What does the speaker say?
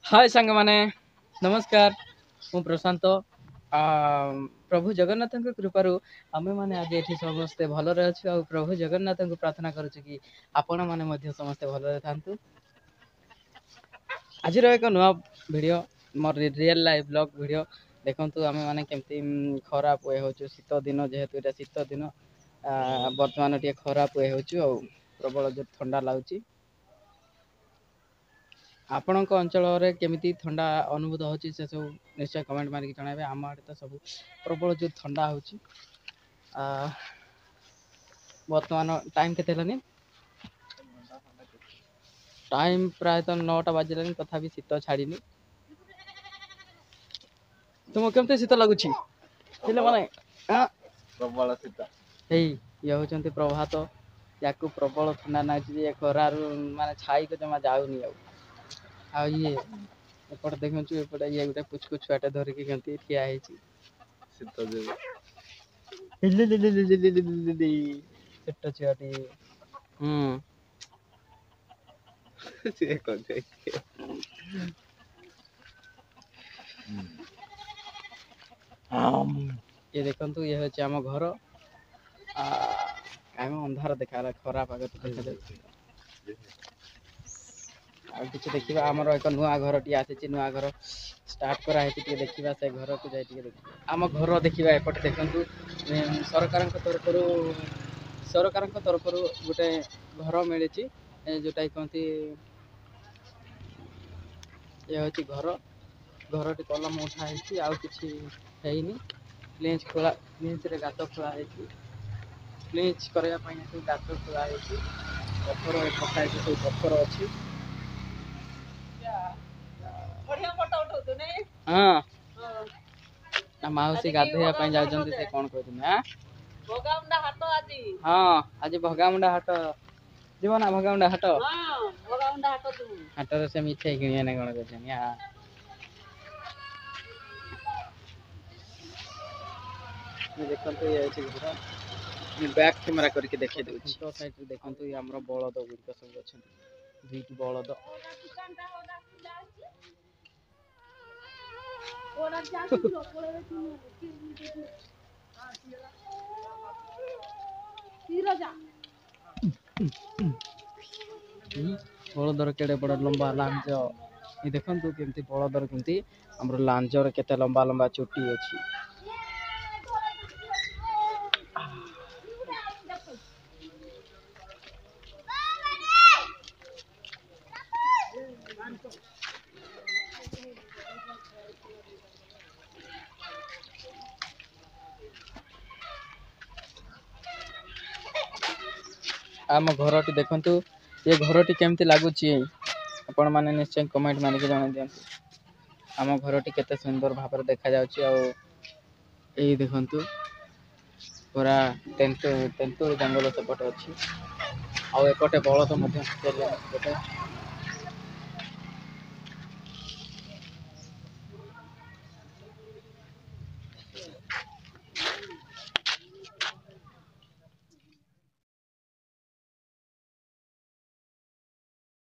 ହାଏ ସାଙ୍ଗମାନେ, ନମସ୍କାର। ମୁଁ ପ୍ରଶାନ୍ତ। ପ୍ରଭୁ ଜଗନ୍ନାଥଙ୍କ କୃପାରୁ ଆମେମାନେ ଆଜି ଏଠି ସମସ୍ତେ ଭଲରେ ଅଛୁ, ଆଉ ପ୍ରଭୁ ଜଗନ୍ନାଥଙ୍କୁ ପ୍ରାର୍ଥନା କରୁଛୁ କି ଆପଣମାନେ ମଧ୍ୟ ସମସ୍ତେ ଭଲରେ ଥାନ୍ତୁ। ଆଜିର ଏକ ନୂଆ ଭିଡ଼ିଓ, ମୋର ରିଏଲ୍ ଲାଇଫ୍ ବ୍ଲଗ୍ ଭିଡ଼ିଓ। ଦେଖନ୍ତୁ ଆମେମାନେ କେମିତି ଖରା ପୁଏ ହେଉଛୁ। ଶୀତ ଦିନ ଯେହେତୁ, ଏଇଟା ଶୀତ ଦିନ, ବର୍ତ୍ତମାନ ଟିକେ ଖରା ପୁଏ ହେଉଛୁ ଆଉ ପ୍ରବଳ ଜୋର ଥଣ୍ଡା ଲାଗୁଛି। ଆପଣଙ୍କ ଅଞ୍ଚଳରେ କେମିତି ଥଣ୍ଡା ଅନୁଭୂତ ହେଉଛି, ସେସବୁ ନିଶ୍ଚୟ କମେଣ୍ଟ ମାରିକି ଜଣାଇବେ। ଆମ ଆଡ଼େ ତ ସବୁ ପ୍ରବଳ ଜୋର ଥଣ୍ଡା ହେଉଛି। ବର୍ତ୍ତମାନ ଟାଇମ୍ କେତେ ହେଲାନି? ଟାଇମ୍ ପ୍ରାୟତଃ 9ଟା ବାଜିଲାଣି, ତଥାପି ଶୀତ ଛାଡ଼ିନି। ତୁମକୁ କେମିତି ଶୀତ ଲାଗୁଛି ପିଲାମାନେ? ପ୍ରବଳ ଶୀତ। ଏଇ ଇଏ ହେଉଛନ୍ତି ପ୍ରଭାତ। ୟାକୁ ପ୍ରବଳ ଥଣ୍ଡା ଲାଗୁଛି ଯେ ଖରାରୁ ମାନେ ଛାଇକୁ ଜମା ଯାଉନି। ଆଉ ଇଏ ଏପଟେ ଦେଖନ୍ତୁ, ଏପଟେ ଇଏ ଗୋଟେ ପୁଚକୁ ଛୁଆଟେ ଧରିକି କେମିତି ଠିଆ ହେଇଛି। ଶୀତ ଯୋଗୁ ଛୋଟ ଛୁଆଟି। ହୁଁ, ସିଏ କଣ? ଇଏ ଦେଖନ୍ତୁ, ଇଏ ହେଉଛି ଆମ ଘର। କାହିଁ ଅନ୍ଧାର ଦେଖାଗଲା, ଖରା ପାଗ ତ ଦେଖାଯାଉଛି। ଆଉ କିଛି ଦେଖିବା, ଆମର ଏକ ନୂଆ ଘରଟିଏ ଆସିଛି, ନୂଆ ଘର ଷ୍ଟାର୍ଟ କରାହେଇଛି। ଟିକେ ଦେଖିବା ସେ ଘରକୁ ଯାଇ, ଟିକେ ଦେଖିବା ଆମ ଘର ଦେଖିବା। ଏପଟେ ଦେଖନ୍ତୁ, ସରକାରଙ୍କ ତରଫରୁ ଗୋଟେ ଘର ମିଳିଛି, ଯେଉଁଟାକି କହନ୍ତି। ଇଏ ହେଉଛି ଘର। ଘରଟି କଲମ ଉଠା ହେଇଛି, ଆଉ କିଛି ହେଇନି। ପ୍ଲିଞ୍ଚ ଖୋଳା, ପ୍ଲିଞ୍ଚରେ ଗାତ ଖୋଳା ହେଇଛି। ପ୍ଲିଞ୍ଚ କରିବା ପାଇଁ ସବୁ ଗାତ ଖୋଳା ହେଇଛି। ପଥର ପକା ହେଇଛି, ସବୁ ପଥର ଅଛି। ହଁ, ମାଉସୀ ଗାଧେଇବା ପାଇଁ ଯାଉଛନ୍ତି। ସେ କଣ କହୁଛନ୍ତି? ହଁ, ଆଜି ଭଗାମୁଣ୍ଡା ହାଟ ଯିବ ନା? ଭଗାମୁଣ୍ଡା ହାଟ, ହାଟରେ ସେ ମିଠେଇ କିଣିବେ ନା କଣ କହୁଛନ୍ତି? ଦେଖନ୍ତୁ, ଇଏ ଅଛି ଘର। ମୁଁ ବ୍ୟାକ୍ କ୍ୟାମେରା କରିକି ଦେଖେଇ ଦେଉଛି। ସାଇଡ଼ରେ ଦେଖନ୍ତୁ, ଇଏ ଆମର ବଳଦ ଗୁଡ଼ିକ ସବୁ ଅଛନ୍ତି, ଦୁଇଟି ବଳଦ। ବଳଦର କେଡ଼େ ବଡ଼ ଲମ୍ବା ଲାଞ୍ଜ! ଏ ଦେଖନ୍ତୁ, କେମିତି ବଳଦର, କେମିତି ଆମର ଲାଞ୍ଜର କେତେ ଲମ୍ବା ଲମ୍ବା ଚୁଟି ଅଛି। ଆମ ଘରଟି ଦେଖନ୍ତୁ। ଏ ଘରଟି କେମିତି ଲାଗୁଛି, ଆପଣମାନେ ନିଶ୍ଚୟ କମେଣ୍ଟ ମାରିକି ଜଣାଇ ଦିଅନ୍ତୁ। ଆମ ଘରଟି କେତେ ସୁନ୍ଦର ଭାବରେ ଦେଖାଯାଉଛି। ଆଉ ଏଇ ଦେଖନ୍ତୁ, ପୁରା ତେନ୍ତୁଳି ଜଙ୍ଗଲ ସେପଟେ ଅଛି, ଆଉ ଏପଟେ ବଳଦ ମଧ୍ୟ ସେପଟେ।